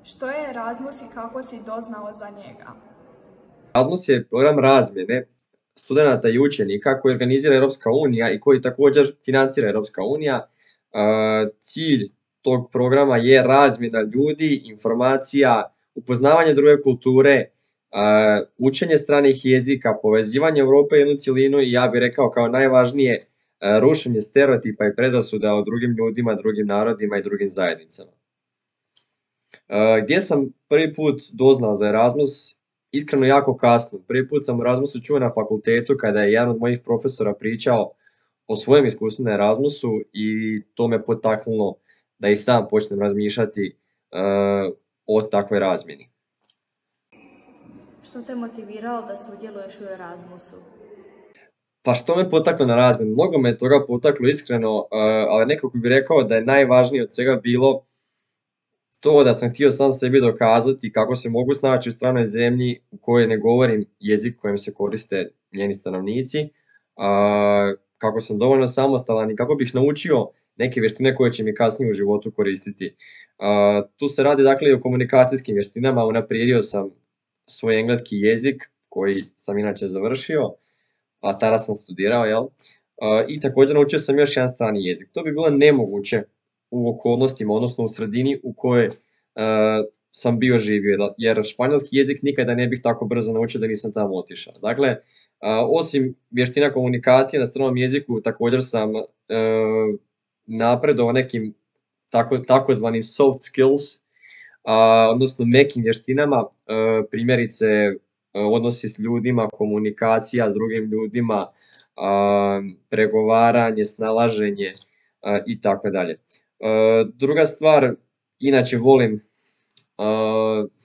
Što je Erasmus i kako si doznao za njega? Erasmus je program razmjene studenata i učenika koji organizira Europska unija i koji također financira Europska unija. Cilj tog programa je razmjena ljudi, informacija, upoznavanje druge kulture, učenje stranih jezika, povezivanje Europe u jednu cjelinu i ja bih rekao kao najvažnije rušenje stereotipa i predrasuda o drugim ljudima, drugim narodima i drugim zajednicama. Gdje sam prvi put doznao za Erasmus? Iskreno jako kasno. Prvi put sam o Erasmusu čuo na fakultetu kada je jedan od mojih profesora pričao o svojem iskustvu na Erasmusu i to me potaknulo da i sam počnem razmišljati o takvoj razmjeni. Što te motiviralo da sudjeluješ u Erasmusu? Pa što me potaklo na razmjenu? Mnogo me toga potaklo iskreno, ali nekako bih rekao da je najvažnije od svega bilo to da sam htio sam sebi dokazati kako se mogu snaći u stranoj zemlji u kojoj ne govorim jezik kojim se koriste njeni stanovnici, kako sam dovoljno samostalan i kako bih naučio neke vještine koje će mi kasnije u životu koristiti. Tu se radi dakle i o komunikacijskim vještinama, unaprijedio sam svoj engleski jezik koji sam inače završio, a tada sam studirao, jel? I također naučio sam još jedan strani jezik. To bi bilo nemoguće u okolnostima, odnosno u sredini u kojoj sam bio živio, jer španjolski jezik nikada ne bih tako brzo naučio da nisam tamo otišao. Dakle, osim vještina komunikacije na stranom jeziku, također sam napredovao nekim takozvanim soft skills, odnosno mekim vještinama, primjerice odnosi s ljudima, komunikacija s drugim ljudima, pregovaranje, snalaženje i tako dalje. Druga stvar, inače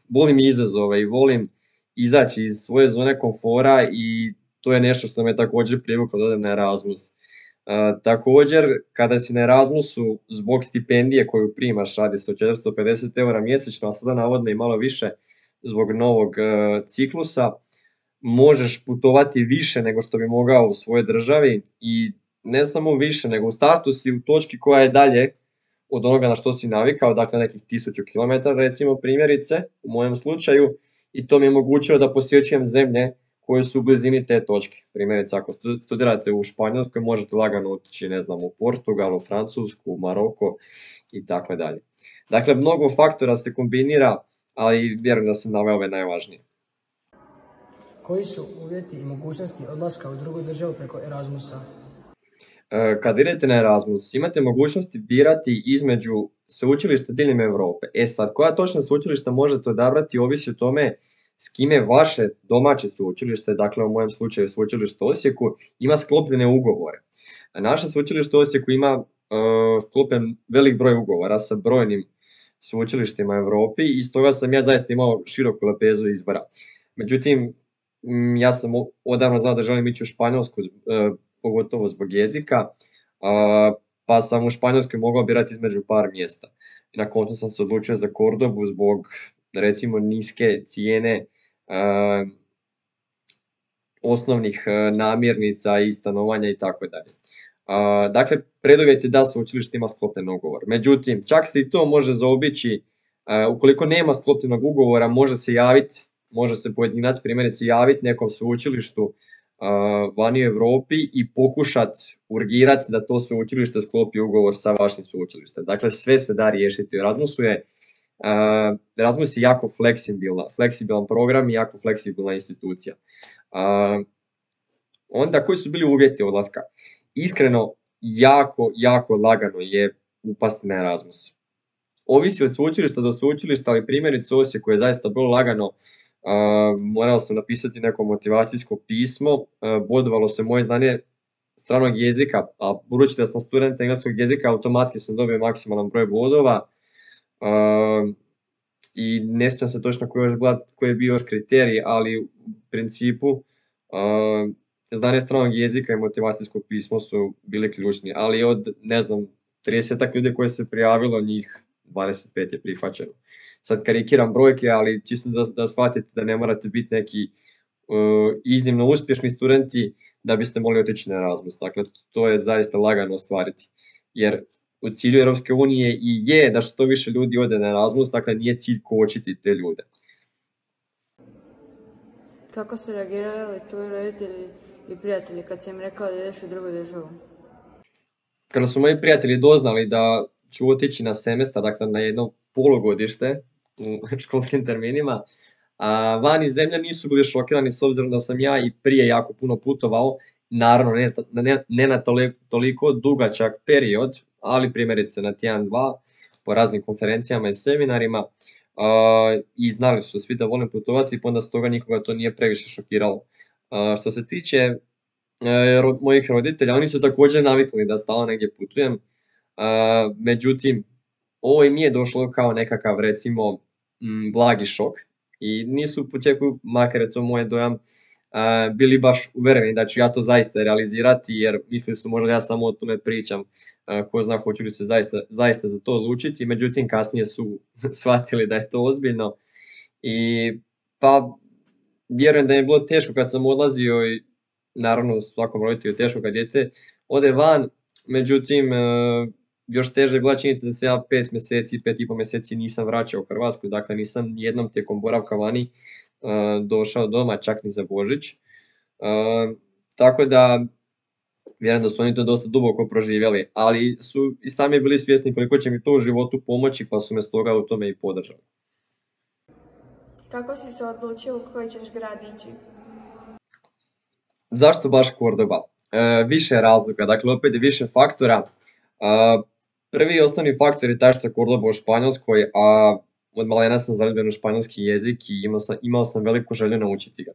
volim izazove i volim izaći iz svoje zone komfora i to je nešto što me također privuklo da odem na Erasmus. Također, kada si na Erasmusu zbog stipendije koju primaš, radi se o 450 € mjesečno, a sada navodno i malo više zbog novog ciklusa, možeš putovati više nego što bi mogao u svojoj državi i ne samo više, nego u startu si u točki koja je dalje od onoga na što si navikao, dakle nekih 1000 km recimo primjerice u mojem slučaju, i to mi je omogućilo da posjećujem zemlje koje su u blizini te točke. Primjerice, ako studirate u Španjolskoj, možete lagano otići, ne znam, u Portugal, u Francusku, u Maroko i tako dalje. Dakle, mnogo faktora se kombinira, ali vjerujem da sam naveo ove najvažnije. Koji su uvjeti i mogućnosti odlaska u drugu državu preko Erasmusa? Kad idete na Erasmus, imate mogućnosti birati između sveučilišta diljem Europe. Sad, koja točno sveučilišta možete odabrati ovisi o tome s kime vaše domaće sveučilište, dakle u mojem slučaju sveučilište u Osijeku, ima sklopljene ugovore. Naše sveučilište u Osijeku ima sklopljen velik broj ugovora sa brojnim sveučilištima u Europi i stoga sam ja zaista imao široku lepezu izbora. Međutim, ja sam odavno znao da želim ići u Španjolsku, pogotovo zbog jezika, pa sam u Španjolskoj mogao birati između par mjesta. Na koncu sam se odlučio za Kordobu zbog recimo niske cijene osnovnih namirnica i stanovanja i tako dalje. Dakle, preduvjet je da sveučilište ima sklopljen ugovor. Međutim, čak se i to može zaobići, ukoliko nema sklopljenog ugovora, može se pojedinac primjerice javiti nekom sveučilištu vani u Europi i pokušati urgirati da to sveučilište sklopi ugovor sa vašim sveučilištem. Dakle, sve se da riješiti. Erasmus je jako fleksibilan program i jako fleksibilna institucija. Onda, koji su bili uvjeti odlaska? Iskreno, jako lagano je upasti na Erasmus. Ovisi od sveučilišta do sveučilišta, ali primjerice u Osijeku je zaista bilo lagano. Morao sam napisati neko motivacijsko pismo, bodovalo se moje znanje stranog jezika, a budući da sam student engleskog jezika, automatski sam dobio maksimalan broj bodova i ne sjećam se točno koji je bio još kriterij, ali u principu znanje stranog jezika i motivacijsko pismo su bili ključni, ali od, 30 ljudi koje se prijavilo, njih 25 je prihvaćeno. Sad karikiram brojke, ali čisto da shvatite da ne morate biti neki iznimno uspješni studenti da biste mogli otići na Erasmus. Dakle, to je zaista lagano ostvariti. Jer u cilju Europske unije i je da što više ljudi ode na Erasmus, dakle nije cilj kočiti te ljude. Kako su reagirali tvoji roditelji i prijatelji kad si im rekao da ideš u drugu državu? Kada su moji prijatelji doznali da ću otići na semestar, dakle na jedno polugodište u školskim terminima, van iz zemlje nisu bili šokirani s obzirom da sam ja i prije jako puno putovao, naravno ne na toliko dugačak period, ali primjerice na tjedan, dva, po raznim konferencijama i seminarima, i znali su svi da volim putovati, pa onda stoga nikoga to nije previše šokiralo. Što se tiče mojih roditelja, oni su također navikli da stalno negdje putujem, međutim, ovo im nije došlo kao nekakav, recimo, blagi šok i nisu u početku, makar je to moj dojam, bili baš uvereni da ću ja to zaista realizirati, jer mislili su možda ja samo o tome pričam, ko zna hoću li se zaista za to odlučiti, međutim kasnije su shvatili da je to ozbiljno i pa vjerujem da je bilo teško kad sam odlazio i naravno svakom roditelju je teško kad dijete ode van, međutim još teže je bila činjenica da se ja 5 mjeseci, 5,5 mjeseci nisam vraćao u Hrvatsku, dakle nisam jednom tijekom boravka vani došao doma, čak ni za Božić. Tako da vjerujem da su oni to dosta duboko proživjeli, ali su i sami bili svjesni koliko će mi to u životu pomoći, pa su me stoga u tome i podržali. Kako si se odlučio u koji ćeš grad ići? Zašto baš Cordoba? Više razloga, dakle opet je više faktora. Prvi i osnovni faktor je taj što je Cordoba u Španjolskoj, a od malena sam zaljubljen u španjolski jezik i imao sam veliku želju naučiti ga.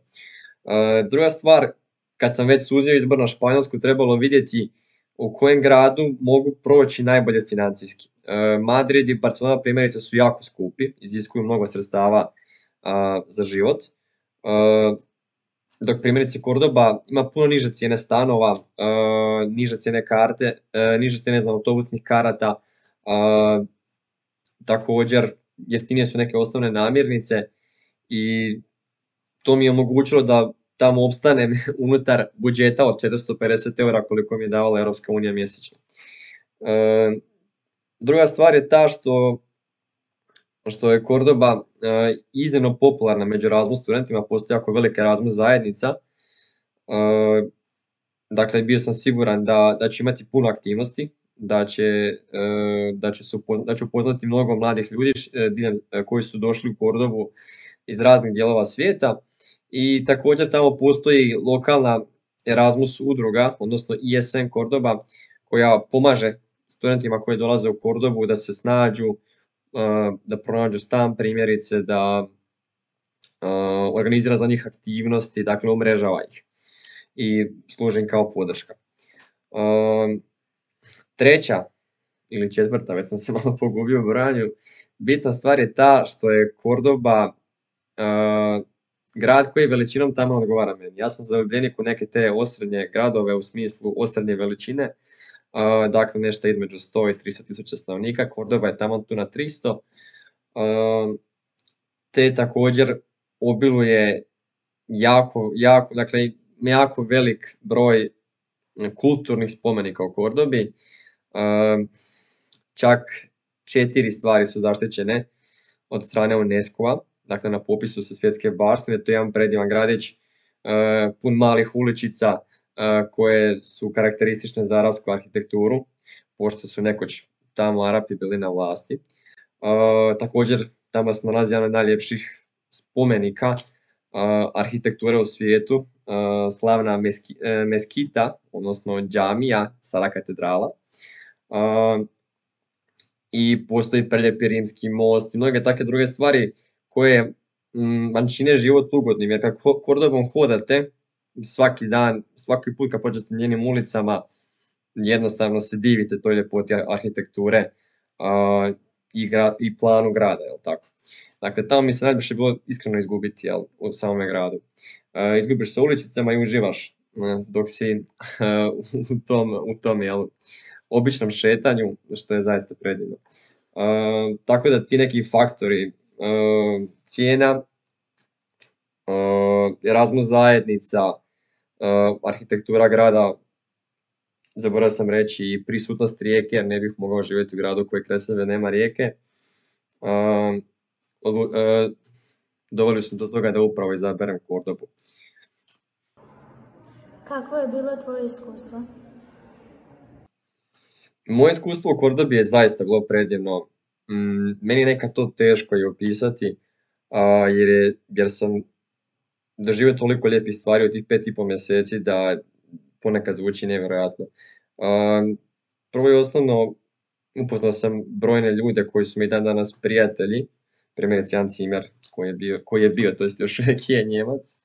Druga stvar, kad sam već suzio izbor na Španjolsku, trebalo vidjeti u kojem gradu mogu proći najbolje financijski. Madrid i Barcelona primjerice su jako skupi, iziskuju mnogo sredstava za život, dok primjerice Cordoba ima puno niže cijene stanova, niže cijene karte, niže cijene autobusnih karata, također jeftinije su neke osnovne namirnice i to mi je omogućilo da tamo opstanem unutar budžeta od 450 eura koliko mi je davala Europska unija mjesečno. Druga stvar je ta što je Cordoba iznimno popularna među Erasmus studentima, postoji jako velika Erasmus zajednica, dakle bio sam siguran da će imati puno aktivnosti, da ću upoznati mnogo mladih ljudi koji su došli u Cordobu iz raznih dijelova svijeta i također tamo postoji lokalna Erasmus udruga, odnosno ISN Cordoba, koja pomaže studentima koji dolaze u Cordobu da se snađu, da pronađu stan primjerice, da organizira za njih aktivnosti, dakle umrežava ih i služi im kao podrška. Treća ili četvrta, već sam se malo pogubio u brojanju, bitna stvar je ta što je Cordoba grad koji veličinom tamo odgovara meni. Ja sam zaljubljenik u neke te osrednje gradove u smislu osrednje veličine, dakle nešto između 100 i 300 tisuća stanovnika, Cordoba je tamo tu na 300, te također obiluje jako velik broj kulturnih spomenika u Cordobi, čak 4 stvari su zaštićene od strane UNESCO-a, dakle na popisu su svjetske baštine, to je jedan predivan gradić, pun malih uličica koje su karakteristične za arapsku arhitekturu, pošto su nekoć tamo Arapi bili na vlasti. Također tamo se nalazi jedan od najljepših spomenika arhitekture u svijetu, slavna meskita, odnosno džamija, Sara katedrala. I postoji preljepi rimski most i mnoge takve druge stvari koje vam čine život ugodnim, jer kad Cordobom hodate svaki dan, svaki put kad pođete njenim ulicama, jednostavno se divite toj ljepoti arhitekture i planu grada, jel tako? Dakle, tamo mi se najviše bilo iskreno izgubiti, jel, u samome gradu. Izgubiš se uličicama i uživaš dok si u tom jel, običnom šetanju, što je zaista predivno. Tako da ti neki faktori, cijena, Erasmus zajednica, arhitektura grada, zaboravio sam reći i prisutnost rijeke, jer ne bih mogao živjeti u gradu koji kraj sebe nema rijeke. Doveli su do toga da upravo izaberem Kordobu. Kakvo je bilo tvoje iskustvo? Moje iskustvo u Kordobi je zaista bilo predivno. Meni je nekad to teško i opisati, jer sam doživio toliko lijepih stvari u tih 5,5 mjeseci da ponekad zvuči nevjerojatno. Prvo i osnovno, upoznao sam brojne ljude koji su mi dan danas prijatelji, primjerice Jan Cimer koji je bio, to jest još uvijek je Njemac.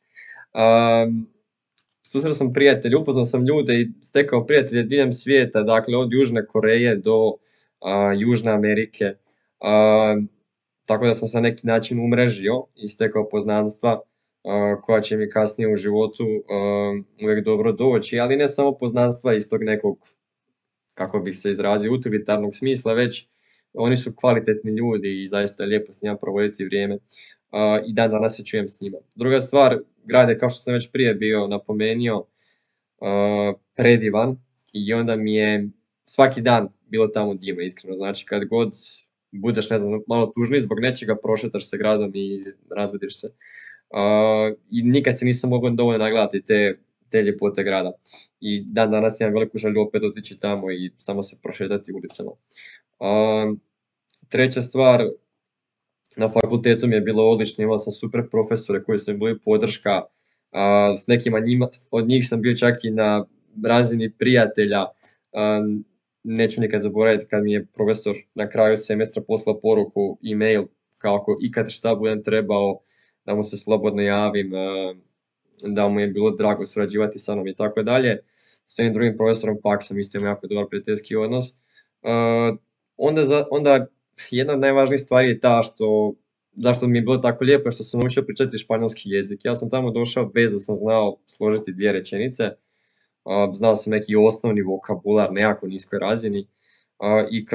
Susreo sam prijatelje, upoznao sam ljude i stekao prijatelje diljem svijeta, dakle od Južne Koreje do Južne Amerike. Tako da sam se na neki način umrežio i stekao poznanstva koja će mi kasnije u životu uvijek dobro doći, ali ne samo poznanstva iz tog nekog, kako bih se izrazio, utilitarnog smisla, već oni su kvalitetni ljudi i zaista je lijepo s njima provoditi vrijeme i dan danas se čujem s njima. Druga stvar, grad je, kao što sam već prije bio napomenio, predivan i onda mi je svaki dan bilo tamo divno, iskreno. Znači kad god budeš, ne znam, malo tužniji zbog nečega, prošetaš se gradom i razvediš se. I nikad se nisam mogao dovoljno nagledati te ljepote grada. I dan danas imam veliku želju opet otići tamo i samo se prošetati ulicama. Treća stvar, na fakultetu mi je bilo odlično, imao sam super profesore koji su mi bili podrška, s nekima od njih sam bio čak i na razini prijatelja. Neću nikad zaboraviti kad mi je profesor na kraju semestra poslao poruku, e-mail, kako ikad šta budem trebao, da mu se slobodno javim, da mu je bilo drago surađivati sa mnom i tako dalje. S jednim drugim profesorom pak sam isto imao jako dobar prijateljski odnos. Onda jedna od najvažnijih stvari je ta zašto mi je bilo tako lijepo, što sam naučio pričati španjolski jezik. Ja sam tamo došao bez da sam znao složiti 2 rečenice. Znao sam neki osnovni vokabular na jako niskoj razini i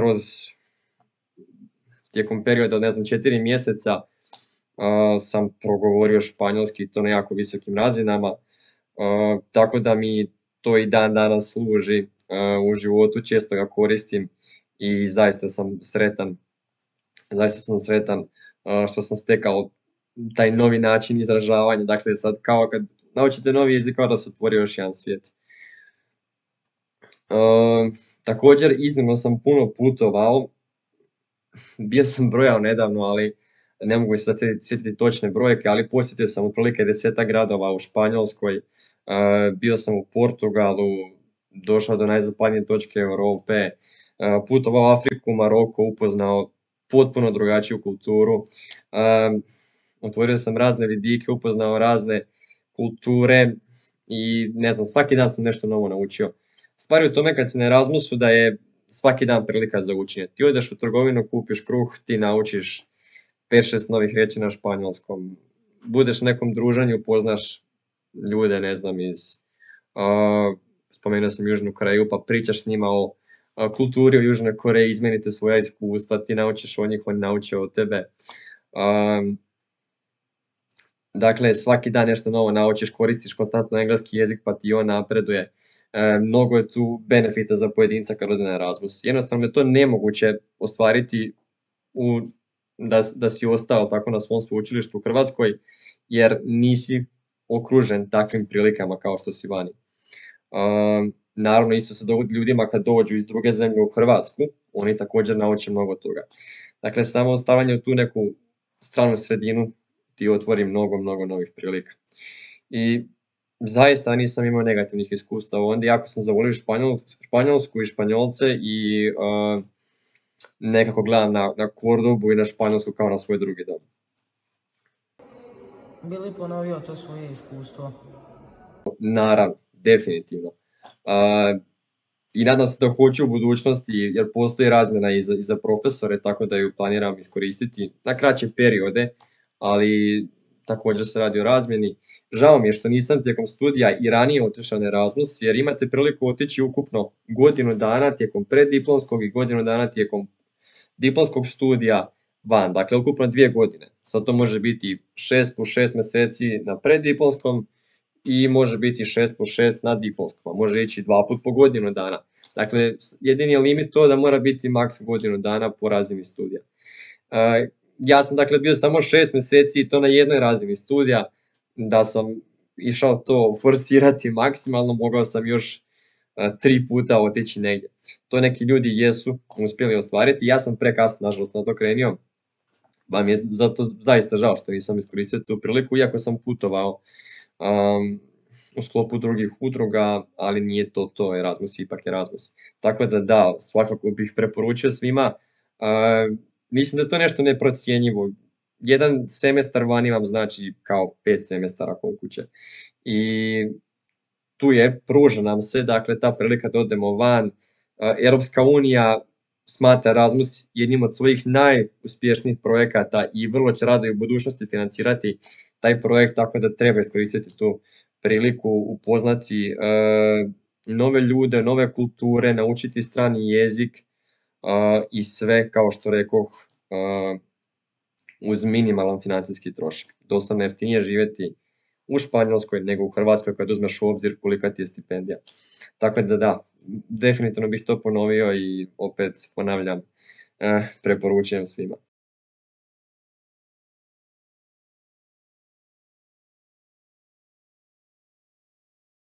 tijekom perioda, ne znam, 4 mjeseca sam progovorio španjolski, to na jako visokim razinama, tako da mi to i dan danas služi u životu, često ga koristim i zaista sam sretan što sam stekao taj novi način izražavanja. Dakle, sad kao kad naučite novi jezik, kao da se otvori još jedan svijet. Također, iznimno sam puno putovao, bio sam brojao nedavno, ali ne mogu se sad sjetiti točne brojke, ali posjetio sam otprilike 10 gradova u Španjolskoj, bio sam u Portugalu, došao do najzapadnije točke Europe, putovao u Afriku, Maroko, upoznao potpuno drugačiju kulturu, otvorio sam razne vidike, upoznao razne kulture i ne znam, svaki dan sam nešto novo naučio. Stvar je u tome kad si na Erasmusu da je svaki dan prilika za učenje. Ti odeš u trgovinu, kupiš kruh, ti naučiš 5-6 novih riječi na španjolskom. Budeš u nekom druženju, poznaš ljude, ne znam, spomenuo sam Južnu Koreju, pa pričaš s njima o kulturi u Južnoj Koreji, izmenite svoja iskustva, ti naučiš od njih, oni nauče od tebe. Dakle, svaki dan nešto novo naučiš, koristiš konstantno engleski jezik, pa ti on napreduje. Mnogo je tu benefita za pojedinca kad ode na Erasmus. Jednostavno je to nemoguće ostvariti da si ostao tako na svom sveučilištu u Hrvatskoj, jer nisi okružen takvim prilikama kao što si vani. Naravno, isto se dogodi ljudima kad dođu iz druge zemlje u Hrvatsku, oni također nauče mnogo toga. Dakle, samo ostavljanje u tu neku stranu sredinu ti otvori mnogo novih prilika. I zaista nisam imao negativnih iskustava. Onda jako sam zavolio Španjolsku i Španjolce i nekako gledam na Kordobu i na Španjolsku kao na svoj drugi dom. Bi li ponovio to svoje iskustvo? Naravno, definitivno. I nadam se da hoću u budućnosti, jer postoji razmjena i za profesore, tako da ju planiram iskoristiti na kraće periode, ali također se radi o razmjeni. Žao mi je što nisam tijekom studija i ranije otišao na Erasmus, jer imate priliku otići ukupno godinu dana tijekom preddiplomskog i godinu dana tijekom diplomskog studija van, dakle ukupno 2 godine. Sad to može biti 6 plus 6 mjeseci na preddiplomskom i može biti 6+6 na diplomskom, a može ići 2 puta po godinu dana. Dakle, jedini je limit to da mora biti maks godinu dana po razini studija. Ja sam dakle bio samo 6 meseci i to na jednoj razini studija, da sam išao to forsirati maksimalno, mogao sam još 3 puta otići negdje. To neki ljudi jesu uspjeli ostvariti, ja sam prekasno nažalost na to krenio, pa mi je zato zaista žao što nisam iskoristio tu priliku, iako sam putovao u sklopu drugih udruga, ali nije to Erasmus, ipak Erasmus. Tako da, svakako bih preporučio svima. Mislim da je to nešto neprocijenjivo. Jedan semestar vani vam znači kao 5 semestara kod kuće. I tu pruža nam se, dakle, ta prilika da odemo van. Europska unija smatra Erasmus jednim od svojih najuspješnijih projekata i vrlo će rado i u budućnosti financirati taj projekt, tako da treba iskoristiti tu priliku, upoznati nove ljude, nove kulture, naučiti strani jezik i sve, kao što rekoh, uz minimalan financijski trošak. Doslovno jeftinije živjeti u Španjolskoj nego u Hrvatskoj kad uzmeš u obzir kolika ti je stipendija. Tako da, definitivno bih to ponovio i opet ponavljam, preporučujem svima.